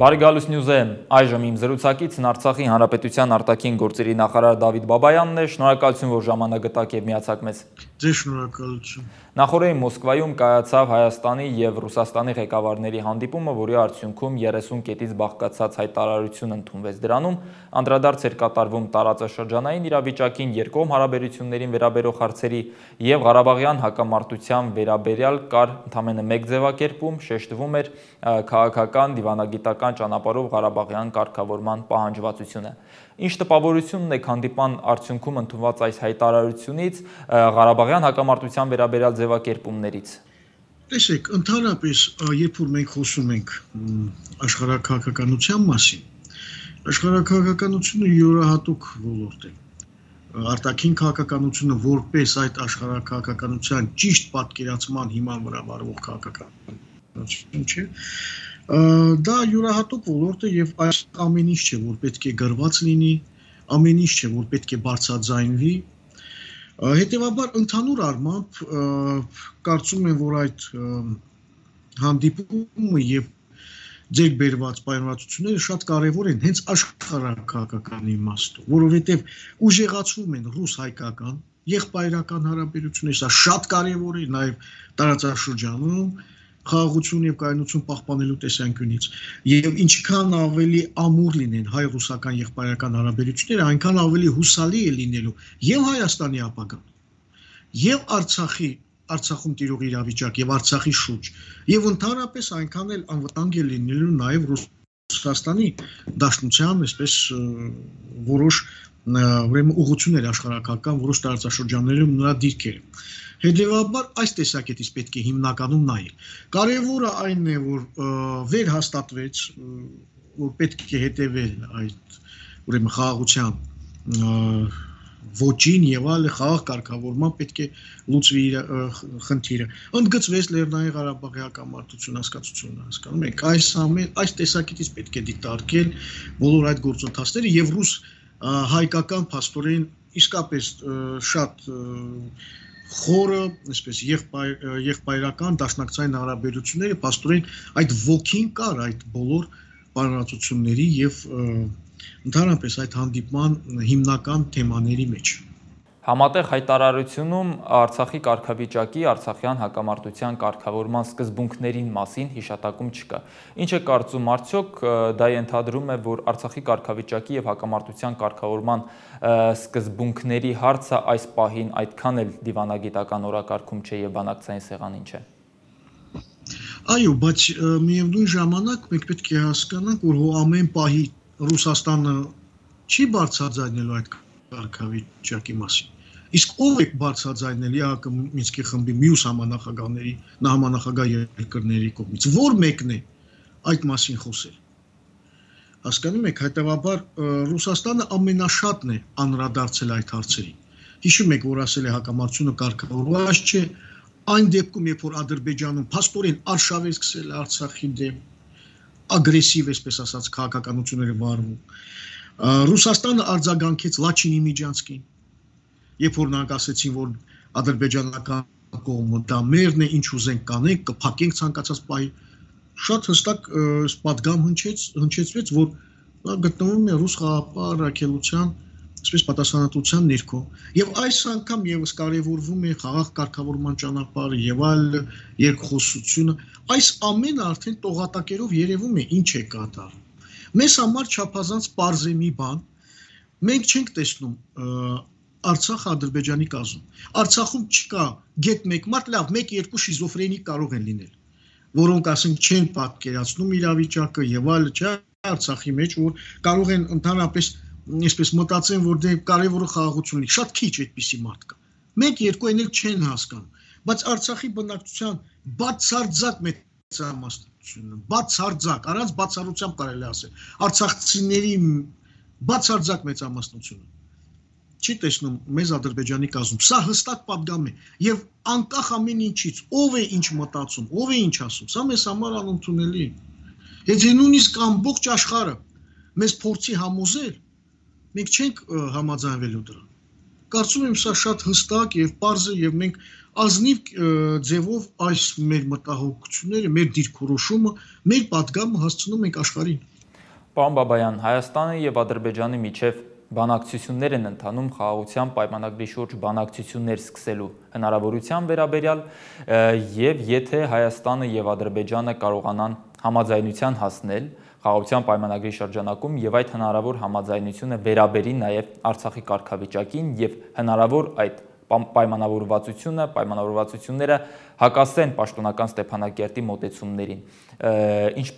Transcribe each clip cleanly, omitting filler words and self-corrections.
Բարի գալուս Նյուզ եմ, այժմ իմ զրուցակիցն Արցախի Հանրապետության արտաքին գործերի նախարար Դավիթ Բաբայանն է, շնորհակալություն, որ ժամանակ գտաք եւ միացաք մեզ։ Ձեզ շնորհակալություն։ Նախորդին Մոսկվայում կայացավ Հայաստանի եւ Ռուսաստանի ղեկավարների հանդիպումը, որի արդյունքում 30 կետից բաղկացած հայտարարություն ընդունվեց։ Դրանում անդրադարձ էր կատարվում տարածաշրջանային իրավիճակին, երկկողմ հարաբերություններին վերաբերող հարցերի եւ Ղարաբաղյան հակամարտության վերաբերյալ կար ընդամենը մեկ ձևակերպում, շեշտվում էր քաղաքական, դիվանագիտական ճանապարհով Ղարաբաղյան կարգավորման պահանջվածությունը։ Ինչ տպավորություն ունեք հանդիպան արդյունքում ընդունված այս հայտարարությունից, Ղարաբաղյան հակամարտության վերաբերյալ ձևակերպումներից։ Տեսեք, ընդհանրապես, երբ որ մենք խոսում ենք աշխարհաքաղաքականության մասին, աշխարհաքաղաքականությունը յուրահատուկ ոլորտ է։ Արտաքին քաղաքականությունը որպես այդ աշխարհաքաղաքականության ճիշտ պատկերացման հիման վրա վարվող քաղաքականություն չէ։ Դա յուրահատուկ ոլորտ է եւ այս ամեն ինչ չէ, որ պետք է գրված լինի, ամեն ինչ չէ, որ պետք է բարձրաձայնվի։ Հետևաբար ընդհանուր առմամբ կարծում եմ, որ այդ հանդիպումը եւ ձեր բերված պայմանավորությունները շատ կարեւոր են հենց աշխարհաքաղաքական իմաստով, որովհետեւ ուժեղացվում են ռուս-հայկական եղբայրական հարաբերությունները, սա շատ կարեւոր է նաեւ տարածաշրջանում խաղաղություն եւ կայունություն պահպանելու տեսանկյունից եւ ինչքան ավելի ամուր լինեն հայ-ռուսական եղբայրական հարաբերությունները, այնքան ավելի հուսալի է լինելու եւ Հայաստանի ապագան եւ Արցախում տիրող իրավիճակ եւ Արցախի շուրջ եւ ընդհանրապես այնքան էլ անվտանգ է լինելու նաեւ Ռուսաստանի Դաշնության, այսպես որոշ ուրեմն ուղղություններ աշխարհակական որոշ տարածաշրջաններում նրա դիրքերը։ Հետևաբար այս տեսակետից պետք է հիմնականում նայել։ Կարևորը այն է, որ վերհաստատվեց, որ պետք է հետևել այդ ուրեմն խաղաղության ոչին եւ այլ խաղաղ կարգավորման պետք է լուծվի խնդիրը։ Ընդգծվեց Լեռնային Ղարաբաղի հակամարտություն հասկացությունը, հասկանում եք, այս տեսակետից պետք է դիտարկել բոլոր այդ գործընթացները եւ ռուս հայկական փաստորեն իսկապես շատ խորը, այսպես եղբայրական դաշնակցային հարաբերությունները փաստորեն այդ ոգին կար այդ բոլոր պայմանավորությունների եւ ընդհանրապես այդ հանդիպման հիմնական թեմաների մեջ։ Համատեղ հայտարարությունում Արցախի կարգավիճակի, Արցախյան հակամարտության կարգավորման սկզբունքներին մասին հիշատակում չկա։ Ինչ է կարծում, արդյոք դա ենթադրում է, որ Արցախի կարգավիճակի եւ հակամարտության կարգավորման սկզբունքների հարցը այս պահին այդքան էլ դիվանագիտական օրակարգում չէ եւ բանակցային սեղանին չէ։ Այո, բայց միևնույն ժամանակ մենք պետք է հասկանանք, որ ամեն պահի Ռուսաստանը չի բարձրաձայնելու այդ կարգավիճակի մասին։ Իսկ ով է բարձրաձայնել ԵԱՀԿ Մինսկի խմբի մյուս համանախագահների, համանախագահ երկրների կողմից, որ մեկն է այդ մասին խոսել։ Հասկանում եք, հետեւաբար Ռուսաստանը ամենաշատն է անդրադարձել այդ հարցերին։ Հիշում եք, որ ասել է հակամարտությունը կարգավորված չէ, այն դեպքում, երբ որ Ադրբեջանում փաստորեն արշավ է սկսել Արցախի դեմ, ագրեսիվ, այսպես ասած, քաղաքականությունները վարվում։ Ռուսաստանը արձագանքեց Լաչինի միջանցքին, երբ որ նրանք ասեցին, որ ադրբեջանական կողմը դա մերն է, ինչ ուզենք կանենք, կփակենք ցանկացած պահի, շատ հստակ պատգամ հնչեցվեց, որ նա գտնվում է ռուս խաղաղապահ առաքելության, այսպես պատասխանատվության ներքո, եւ այս անգամ եւս կարեւորվում է խաղաղ կարգավորման ճանապարհը եւ այլ երկխոսությունը, այս ամենը արդեն տողատակերով երևում է ինչ է կատարվում։ Մեզ համար չափազանց պարզ է մի բան, մենք չենք տեսնում Արցախը Ադրբեջանի կազմում։ Արցախում չկա գետ մեկ մարդ, լավ, 1-2 շիզոֆրենիկ կարող են լինել, որոնք ասենք չեն պատկերացնում իրավիճակը եւ այլը, չէ, Արցախի մեջ, որ կարող են ընդհանրապես այսպես մտածեն, որ դե կարևորը խաղաղությունն է, շատ քիչ այդպիսի մարդ կա։ 1-2 են էլ չեն հասկանում, բայց Արցախի բնակչության բացարձակ մեծամասնությունը, բացարձակ, առանց բացառությամբ կարելի ասել, արցախցիների բացարձակ մեծամասնությունը չի տեսնում մեզ Ադրբեջանի կազմում։ Սա հստակ պատգամ է եւ անկախ ամեն ինչից, ով է ինչ մտածում, ով է ինչ ասում, սա մեզ համար անընդունելի է։ Եթե նույնիսկ ամբողջ աշխարհը մեզ փորձի համոզել, մենք չենք համաձայնվելու դրան։ Կարծում եմ սա շատ հստակ եւ պարզ է եւ մենք ազնիվ ձևով այս մեր մտահոգությունները, մեր դիրքորոշումը, մեր պատգամը հասցնում ենք աշխարհին։ Պարոն Բաբայան, Հայաստանի եւ Ադրբեջանի միջև բանակցություններ են ընթանում խաղաղության պայմանագրի շուրջ բանակցություններ սկսելու հնարավորության վերաբերյալ եւ եթե Հայաստանը եւ Ադրբեջանը կարողանան համաձայնության հասնել խաղաղության պայմանագրի շրջանակում եւ այդ հնարավոր համաձայնությունը վերաբերի նաեւ Արցախի կարգավիճակին եւ հնարավոր այդ պայմանավորվածությունները հակասեն պաշտոնական Ստեփանակերտի մոտեցումներին։ Ինչ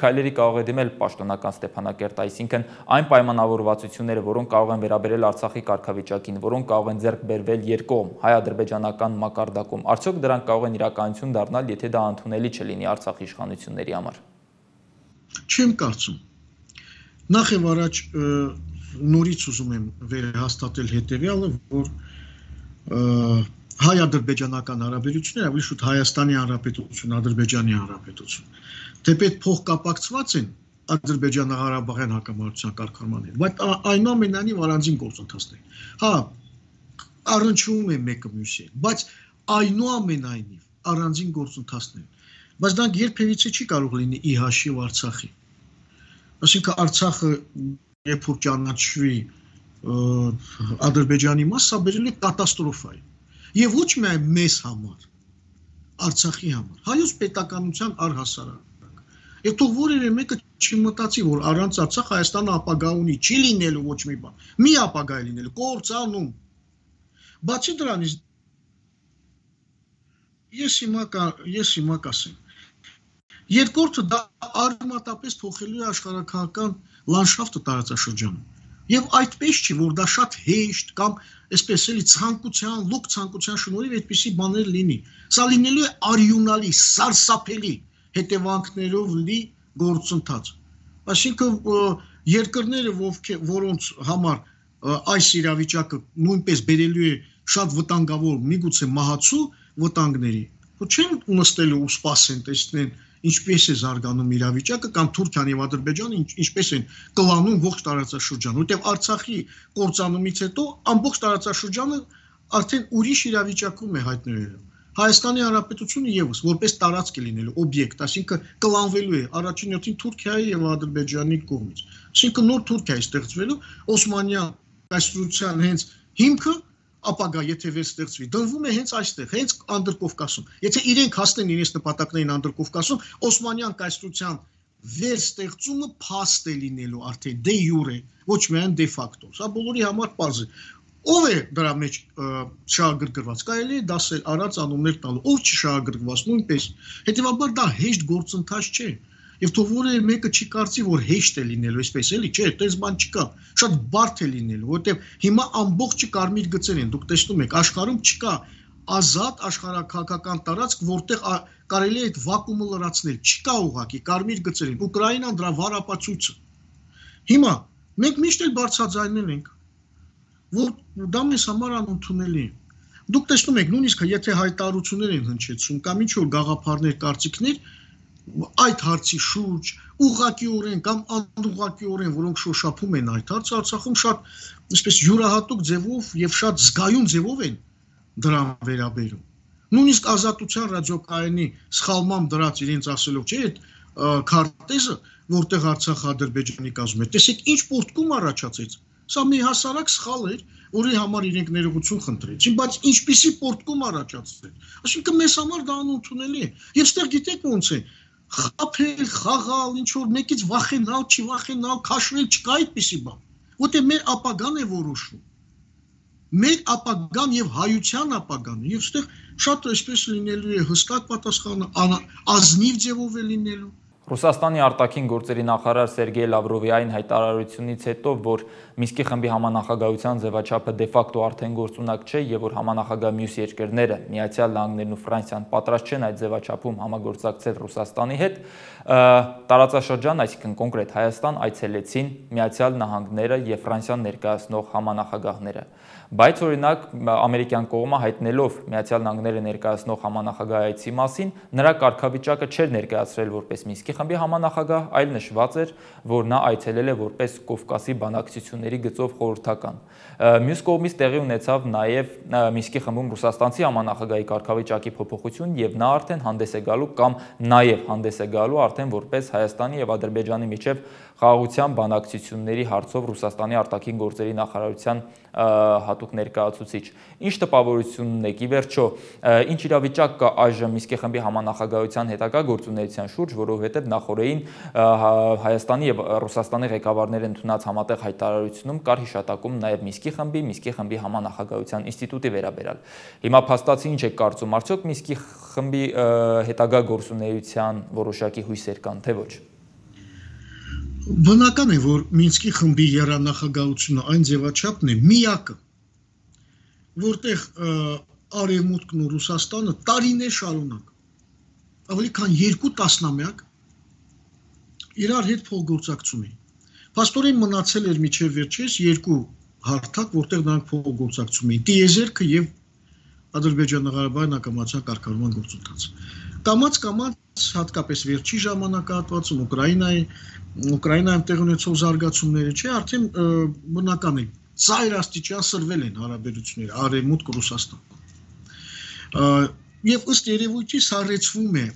քայլերի կարող է դիմել պաշտոնական Ստեփանակերտը, այսինքն այն պայմանավորվածությունները, որոնք կարող են վերաբերել Արցախի կարգավիճակին, որոնք կարող են ձեռք բերվել երկկողմ հայ-ադրբեջանական մակարդակում, արդյոք դրանք կարող են իրականություն դառնալ, եթե դա ընդունելի չլինի Արցախի իշխանությունների համար։ Չեմ կարծում։ Նախ եւ առաջ նորից ուզում եմ վերահաստատել հետեւյալը, որ հայ-ադրբեջանական հարաբերությունները ավելի շուտ Հայաստանի Հանրապետություն, Ադրբեջանի Հանրապետություն, թեպետ փոխկապակցված են Ադրբեջանա-Ղարաբաղյան հակամարտության կարգավորման հետ, բայց այնուամենայնիվ առանձին գործընթացներ։ Հա, առնչվում է մեկը մյուսի հետ, բայց այնուամենայնիվ առանձին գործընթացներ։ Բայց դա երբևիցե չի կարող լինի ի հաշիվ Արցախի։ Այսինքն Արցախը երբ որ ճանաչվի Ադրբեջանի մաս, սա բերել է կատաստրոֆայի։ Եվ ոչ միայն մեզ համար, Արցախի համար, հայոց պետականության առհասարակ։ Եվ թող որևէ մեկը չմտածի, որ առանց Արցախ Հայաստանը ապագա ունի, չի լինելու ոչ մի բան։ Մի ապագա է լինելու, կործանում։ Բացի դրանից, ես հիմա կասեմ, երկրորդը դա արմատապես փոխելու է աշխարհաքաղաքական լանդշաֆտը տարածաշրջանում։ Եվ այդպես չի, որ դա շատ հեշտ կամ այսպես էլի լոկ ցանկության շնորհիվ այդպիսի բաներ լինի։ Սա լինելու է արյունալի, սարսափելի հետևանքներով լի գործընթաց։ Այսինքն երկրները, որոնց համար այս իրավիճակը նույնպես բերելու է շատ վտանգավոր, միգուցե մահացու վտանգների, չեն նստելու ու սպասեն, տեսնեն ինչպես է զարգանում իրավիճակը կամ Թուրքիան եւ Ադրբեջանը ինչպես են կլանում ողջ տարածաշրջանը, որտեղ Արցախի կործանումից հետո ամբողջ տարածաշրջանը արդեն ուրիշ իրավիճակում է հայտնվելու։ Հայաստանի Հանրապետությունը եւս որպես տարածք է լինելու օբյեկտ, այսինքն կլանվելու է առաջին հերթին Թուրքիայի եւ Ադրբեջանի կողմից։ Այսինքն նոր Թուրքիա է ստեղծվելու Օսմանյան կայսրության հենց հիմքը ապագա եթե վերստեղծվի, դնվում է հենց այստեղ, հենց Անդրկովկասում։ Եթե իրենք հասնեն իրենց նպատակներին Անդրկովկասում, Օսմանյան կայսրության վերստեղծումը փաստ է լինելու արդեն դե յուրե, ոչ միայն դե ֆակտո։ Սա բոլորի համար պարզ է։ Ով է դրա մեջ շահագրգռված, կարելի է դասել առանց անուններ տալու, ով չշահագրգռված նույնպես։ Հետևաբար դա հեշտ գործընթաց չէ։ Եվ թող որևէ մեկը չի կարծի, որ հեշտ է լինելու, այսպես էլի, չէ, այդպես բան չկա, շատ բարդ է լինելու, որովհետև հիմա ամբողջը կարմիր գծեր են, դուք տեսնում եք, աշխարհում չկա ազատ աշխարհաքաղաքական տարածք, որտեղ կարելի է այդ վակուումը լրացնել, չկա ուղղակի կարմիր գծեր են, Ուկրաինան դրա վառ ապացույցը։ Հիմա մենք միշտ էլ բարձրաձայնել ենք, որ դա մեզ համար անընդունելի է։ Դուք տեսնում եք, նույնիսկ եթե հայտարարություններ են հնչեցում կամ ինչ որ գաղափարներ, կարծիքներ այդ հարցի շուրջ ուղղակիորեն կամ անուղղակիորեն, որոնք շոշափում են այդ հարցը, Արցախում շատ այսպես յուրահատուկ ձևով եւ շատ զգայուն ձևով են դրան վերաբերում։ Նույնիսկ Ազատության ռադիոկայանի սխալմամբ դրած իրենց ասելով, չէ, այդ քարտեզը, որտեղ Արցախը Ադրբեջանի կազմում է, տեսեք ինչ պորտկում առաջացեց։ Սա մի հասարակ սխալ էր, որի համար իրենք ներողություն խնդրեցին, բայց ինչպիսի պորտկում առաջացրեց։ Այսինքն մեզ համար դա անընդունելի է։ Եվ ստեղ գիտեք ոնց է, խաբել, խաղալ, ինչ որ մեկից վախենալ, չվախենալ, քաշվել, չկա այդպիսի բան։ Որտեղ մեր ապագան է որոշում։ Մեր ապագան եւ հայության ապագան, եւ այստեղ շատ այսպես լինելու է հստակ պատասխանը, ազնիվ ձևով է լինելու։ Ռուսաստանի արտաքին գործերի նախարար Սերգեյ Լավրովի այն հայտարարությունից հետո, որ Մինսկի խմբի համանախագահության ձևաչափը դե ֆակտո արդեն գործունակ չէ եւ որ համանախագահ մյուս երկրները, Միացյալ Նահանգներն ու Ֆրանսիան պատրաստ չեն այդ ձևաչափում համագործակցել Ռուսաստանի հետ, տարածաշրջան, այսինքն կոնկրետ Հայաստան այցելեցին Միացյալ Նահանգները եւ Ֆրանսիան ներկայացնող համանախագահները։ Բայց օրինակ ամերիկյան կողմը հայտնելով Միացյալ Նահանգները ներկայացնող համանախագահ այցի մասին, նրա կարգավիճակը չէր ներկայացրել որպես Մինսկի խմբի համանախագահ, այլ նշված էր, որ նա այցելել է որպես Կովկասի բանակցությունների գծով խորհրդական։ Մյուս կողմից տեղի ունեցավ նաև Մինսկի խմբում ռուսաստանցի համանախագահի կարգավիճակի փոփոխություն եւ նա արդեն հանդես է գալու կամ նաև հանդես է գալու արդեն որպես Հայաստանի եւ Ադրբեջանի միջև խաղաղության բանակցությունների հարցով Ռուսաստանի արտաքին գործերի նախարարության հատուկ ներկայացուցիչ։ Ինչ տպավորությունն եք ի վերջո, ինչ իրավիճակ կա այժմ Մինսկի խմբի համանախագահության հետագա գործունեության շուրջ, որովհետև նախորդին Հայաստանի եւ Ռուսաստանի ղեկավարները ընդունած համատեղ հայտարարությունում կար հիշատակում նաև Մինսկի խմբի համանախագահության ինստիտուտի վերաբերյալ։ Հիմա փաստացի ինչ եք կարծում, արդյոք Մինսկի խմբի հետագա գործունեության որոշակի հույսեր կան, թե ոչ։ Բնական է, որ Մինսկի խմբի եռանախագահությունը այն ձևաչափն է միակը, որտեղ Արևմուտքն ու Ռուսաստանը տարիներ շարունակ, ավելի քան 2 տասնամյակ իրար հետ փոխգործակցում էին։ Փաստորեն մնացել էր միջև վերջերս 2 հարթակ, որտեղ նրանք փոխգործակցում էին՝ տիեզերքը եւ Ադրբեջան-Ղարաբաղի անկամացան կարգավորման գործընթացը։ Կամաց հատկապես վերջի ժամանակահատվածում Ուկրաինայում տեղ ունեցող զարգացումները, չէ, արդեն բնական է, ծայր աստիճան սրվել են հարաբերությունները Արևմուտք-Ռուսաստան։ Եվ ըստ երևույթի սառեցվում է,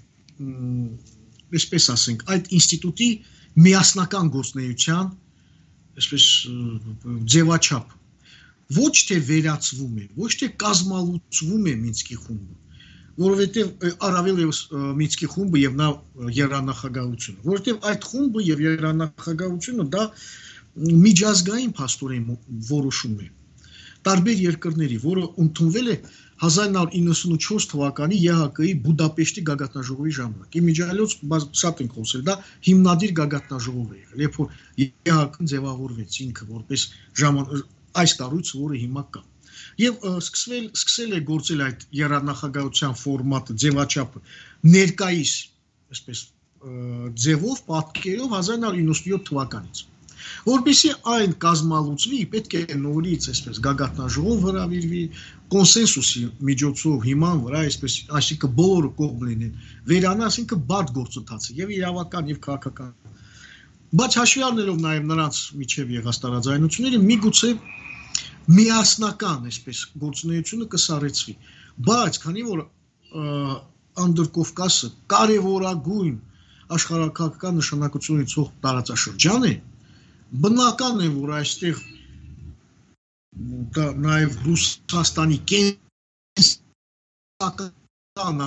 այսպես ասենք, այդ ինստիտուտի միասնական գործունեության, այսպես ձևաչափ, ոչ թե վերացվում է, ոչ թե կազմալուծվում է Մինսկի խումբը, որովհետև առավել ևս Մինսկի խումբը եւ նա եռանախագահությունը, որովհետև այդ խումբը եւ եռանախագահությունը դա միջազգային փաստորեն որոշում է տարբեր երկրների, որը ընդունվել է 1994 թվականի ԵՀԿ-ի Բուդապեշտի գագաթնաժողովի ժամանակ։ Իմիջիայլոց շատ ենք խոսել, դա հիմնադիր գագաթնաժողով է եղել, երբ որ ԵՀԿ-ն ձևավորվեց ինքը որպես այս կառույցը, որը հիմա կա։ Եվ սկսել է գործել այդ եռանախագահության ֆորմատը, ձևաչափը ներկայիս, այսպես ձևով, պատկերով 1997 թվականից։ Որպեսզի այն կազմալուծվի, պետք է նորից այսպես գագաթնաժողով հրավիրվի, կոնսենսուսի միջոցով հիման վրա, այսինքն բոլորը կողմ լինեն, վերանա, այսինքն բարդ գործընթաց է, եւ իրավական, եւ քաղաքական։ Բայց հաշվի առնելով նաեւ նրանց միջև եղած տարաձայնությունները, միգուցե միասնական, այսպես գործունեությունը կսառեցվի, բայց քանի որ Անդրկովկասը կարևորագույն աշխարհակաղակական նշանակություն ունեցող տարածաշրջան է, բնական է, որ այստեղ նաև Ռուսաստանի կենսական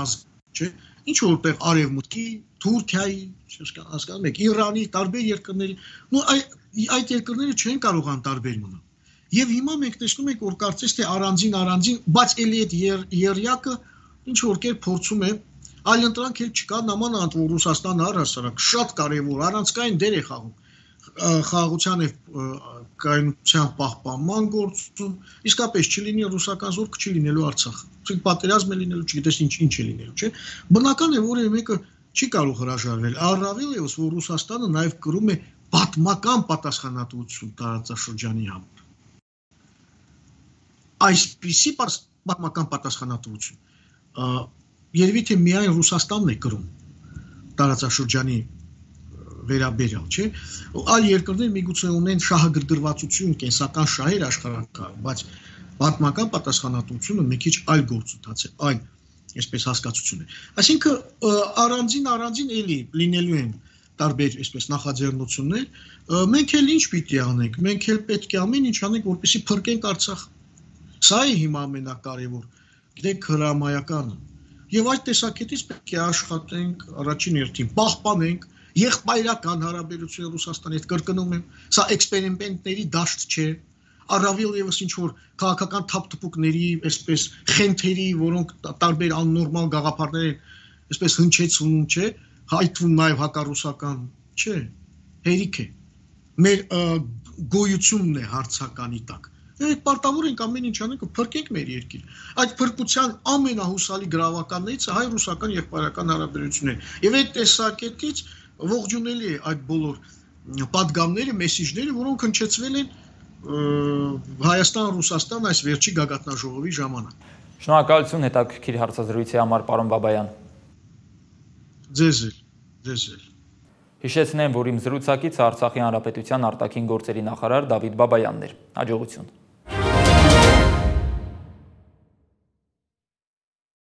ազգ, չէ, ինչ որտեղ Արևմուտքի, Թուրքիայի, հասկանում եք, Իրանի, տարբեր երկրների, այդ երկրները չեն կարող անտարբեր մնալ։ Եվ հիմա մենք տեսնում ենք, որ կարծես թե առանձին, բայց էլի այդ երյակը ինչ որ կերպ փորձում է, այլ ընտրանք էլ չկա, նամանավանդ որ Ռուսաստանը առհասարակ շատ կարևոր առանցքային դեր է խաղում խաղաղության եւ կայունության պահպանման գործում, իսկապես չլինի ռուսական զորք, չի լինելու Արցախը։ Իսկ պատերազմ է լինելու, չգիտես ինչ է լինելու, չէ։ Բնական է, որ մեկը չի կարող հրաժարվել։ Առավել ևս, որ Ռուսաստանը նաեւ կրում է պատմական պատասխանատվություն տարածաշրջանի համար։ Այսպիսի պատմական պատասխանատվություն երևի թե միայն Ռուսաստանն է կրում տարածաշրջանի վերաբերյալ, չէ, այլ երկրներ միգուցե ունեն շահագրգռվածություն, կենսական շահեր աշխարհակարգ, բայց պատմական պատասխանատվությունը մի քիչ այլ գործընթաց է, այլ այսպես հասկացություն է։ Այսինքն առանձին էլի լինելու են տարբեր այսպես նախաձեռնություններ, մենք էլ ինչ պիտի անենք, մենք էլ պետք է ամեն ինչ անենք, որպեսզի փրկենք Արցախը։ Սա է հիմա ամենակարևոր, գիտեք, հրամայականը։ Եվ այդ տեսակետից պետք է աշխատենք առաջին հերթին, պահպանենք եղբայրական հարաբերությունը Ռուսաստանի հետ, կրկնում եմ, սա էքսպերիմենտների դաշտ չէ, առավել ևս ինչ որ քաղաքական թափթփուկների, այսպես խենթերի, որոնք տարբեր աննորմալ գաղափարներ են, այսպես հնչեցնում, չէ, հայտվում նաև հակառուսական, չէ, հերիք է։ Մեր գոյությունն է հարցականի տակ։ Մենք պարտավոր ենք ամեն ինչ անենք, փրկենք մեր երկիրը։ Այդ փրկության ամենահուսալի գրավականներից հայ-ռուսական եղբայրական հարաբերությունները։ Եվ այդ տեսակետից ողջունելի է այդ բոլոր պատգամները, մեսիջները, որոնք հնչեցվել են Հայաստան-Ռուսաստան այս վերջի գագաթնաժողովի ժամանակ։ Շնորհակալություն հետաքրքիր հարցազրույցի համար, պարոն Բաբայան։ Ձեզ էլ։ Հիշեցնեմ, որ իմ զրուցակիցը Արցախի Հանրապետության արտաքին գործերի նախարար Դավիթ Բաբայանն էր։ Հաջողություն։